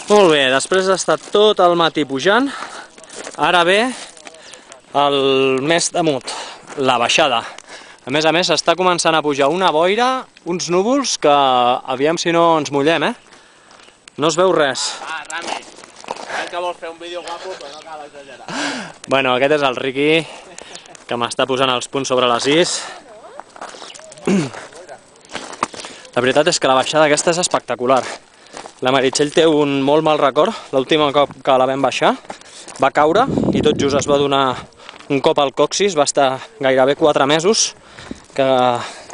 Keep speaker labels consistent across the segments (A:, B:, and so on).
A: Molt bé, després d'estar tot el matí pujant, ara ve el més temut, la baixada. A més, està començant a pujar una boira, uns núvols que aviam si no ens mullem, eh? No es veu res.
B: Ah, Rami, crec que vols fer un vídeo guapo, però no cal exagerar.
A: Bueno, aquest és el Riqui, que m'està posant els punts sobre les is. La veritat és que la baixada aquesta és espectacular. La Meritxell té un molt mal record. L'últim cop que la vam baixar va caure i tot just es va donar un cop al coxis, va estar gairebé 4 mesos, que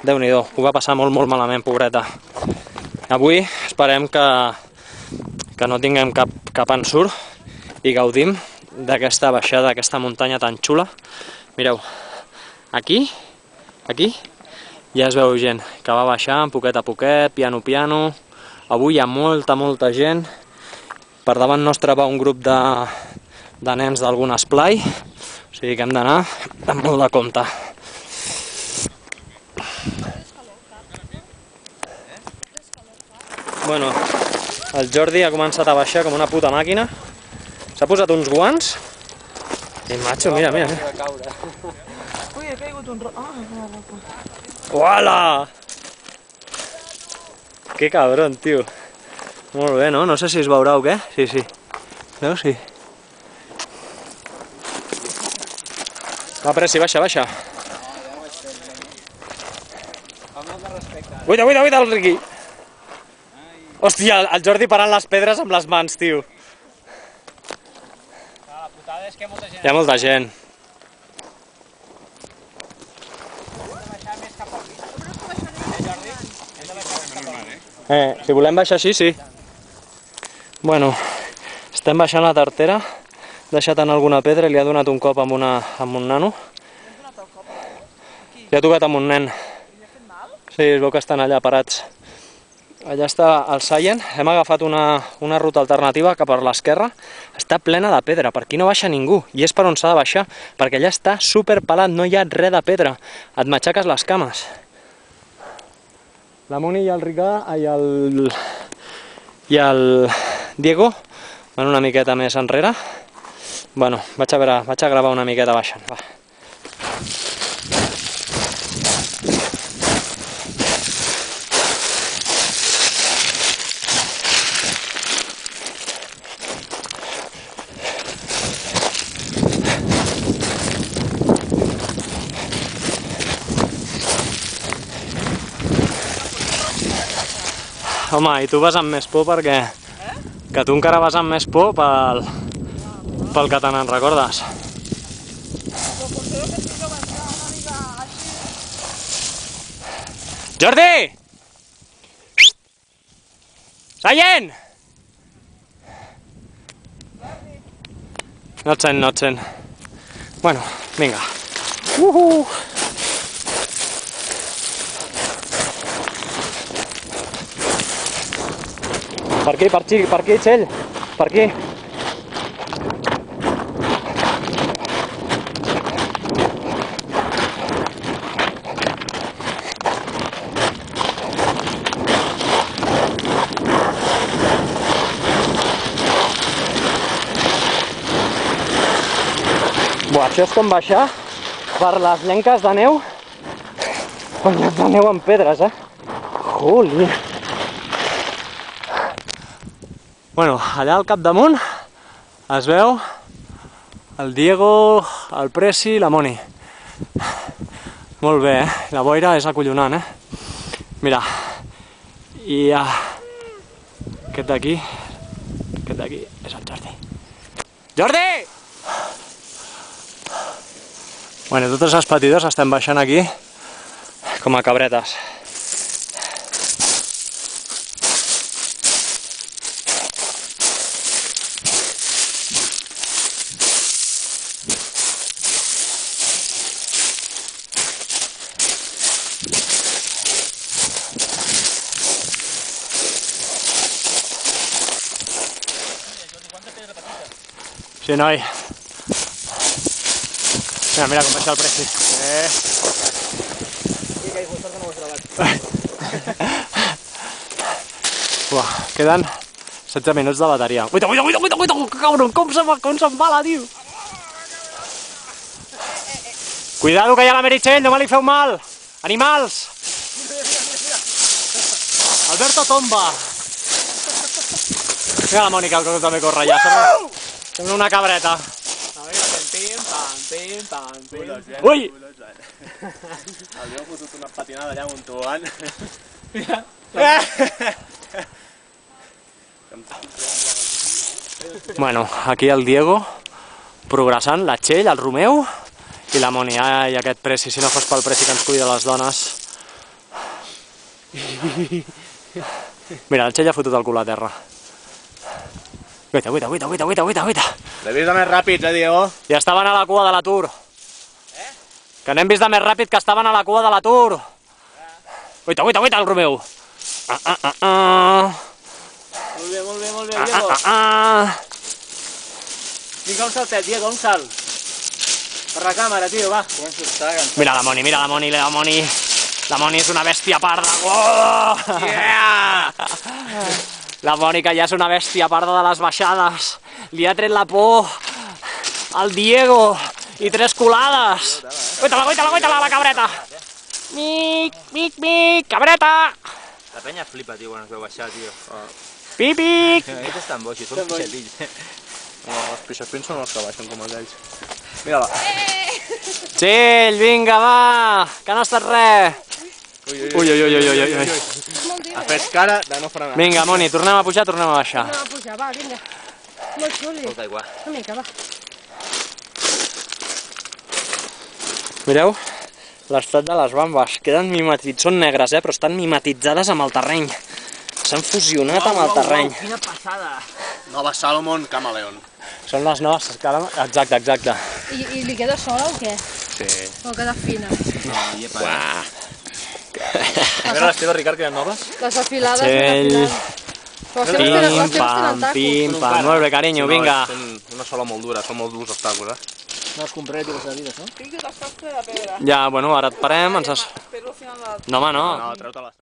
A: Déu-n'hi-do, ho va passar molt malament, pobreta. Avui esperem que no tinguem cap ensurt i gaudim d'aquesta baixada, d'aquesta muntanya tan xula. Mireu, aquí ja es veu gent que va baixant poquet a poquet, piano. Avui hi ha molta gent. Per davant nostre va un grup de nens d'algun esplai, o sigui que hem d'anar amb molt de compte. Bueno, el Jordi ha començat a baixar com una puta màquina. S'ha posat uns guants. I macho, mira.
C: Ui, he caigut un...
A: Uala! Que cabron, tio. Molt bé, no? No sé si es veurà o què. Sí. Veus? Sí. Va, Pressi, baixa. Cuida, el Riqui. Hòstia, el Jordi parant les pedres amb les mans, tio.
B: La putada és que molta gent...
A: Hi ha molta gent. Si volem baixar així, sí. Bueno, estem baixant la tartera. Ha deixat en alguna pedra i li ha donat un cop amb un nano. Li ha tocat amb un nen. Sí, es veu que estan allà parats. Allà està el seient. Hem agafat una ruta alternativa cap a l'esquerra. Està plena de pedra, per aquí no baixa ningú. I és per on s'ha de baixar, perquè allà està superpelat, no hi ha res de pedra. Et matxaques les cames. La Moni i el Ricà i el Diego van una miqueta més enrere. Bueno, vaig a gravar una miqueta baixant, va. Home, i tu vas amb més por perquè... Que tu encara vas amb més por pel que te n'en recordes. Jordi! Seient! No et sent. Bueno, vinga. Per aquí, Txell, per aquí. Buah, això és com baixar per les llenques de neu, banyats de neu amb pedres, Joli! Bueno, allà al capdamunt es veu el Diego, el Pressi i la Moni. Molt bé, la boira és acollonant, Mira, i aquest d'aquí és el Jordi. Jordi! Bueno, totes les petidors estem baixant aquí com a cabretes. Sí, noi. Mira com baixa el Pressi. Queden 16 minuts de bateria. Uita, cabron, com s'embala, tio! Cuidado que hi ha la Meritxell, no me li feu mal! Animals! Alberto tomba! Mira la Mònica, que també corre ja, sembla una cabreta. Ui!
B: El Diego ha fotut una patinada allà amb un tobogan.
A: Bueno, aquí el Diego, progressant, la Txell, el Romeu i la Moni. Ai, aquest Preci, si no fos pel Preci que ens cuida les dones. Mira, el Txell ha fotut el cul a terra. Guaita.
B: L'he vist de més ràpids, Diego?
A: I estaven a la cua de l'Atur. Que n'hem vist de més ràpid que estaven a la cua de l'Atur. Guaita, el Romeu.
B: Molt bé, Diego. Vinga, un saltet, Diego, un salt. Per la càmera, tio, va.
A: Mira la Moni. La Moni és una bèstia parda. Oh!
B: Yeah!
A: La Mònica ja és una bèstia parda de les baixades. Li ha tret la por al Diego i 3 colades. Guaita-la, la cabreta. Mic, cabreta.
C: La penya flipa, tio, quan es veu baixar, tio.
A: Pipic.
C: Aquests estan boixos, són pixatills.
B: No, els pixapins són els que baixen com aquells. Mira-la.
A: Txell, vinga, va, que no ha estat res. Ui.
B: Ha fet cara de no frenar.
A: Vinga, Moni, tornem a pujar, tornem a baixar.
D: Tornem a pujar, va, vinga. Molt xuli.
C: Molta aigua.
D: Una mica, va.
A: Mireu l'estat de les bambes. Queden mimetitzades, són negres, però estan mimetitzades amb el terreny. S'han fusionat amb el terreny.
C: Quina passada!
B: Nova Salomon Camaleon.
A: Són les noves, exacte.
D: I li queda sola o què?
B: Sí.
D: O queda fina?
C: A veure, les teves, Ricard, queden noves?
D: Les afilades,
A: Txell.
D: les teves tenen tacos.
A: Pim, pam, molt bé, carinyo, vinga.
B: Són una sola molt dura, són molt durs els tacos,
C: No els compraré, tio, les vides, no?
A: Ja, bueno, ara et parem, ens has... No, home, no.
B: No, treu-te-les.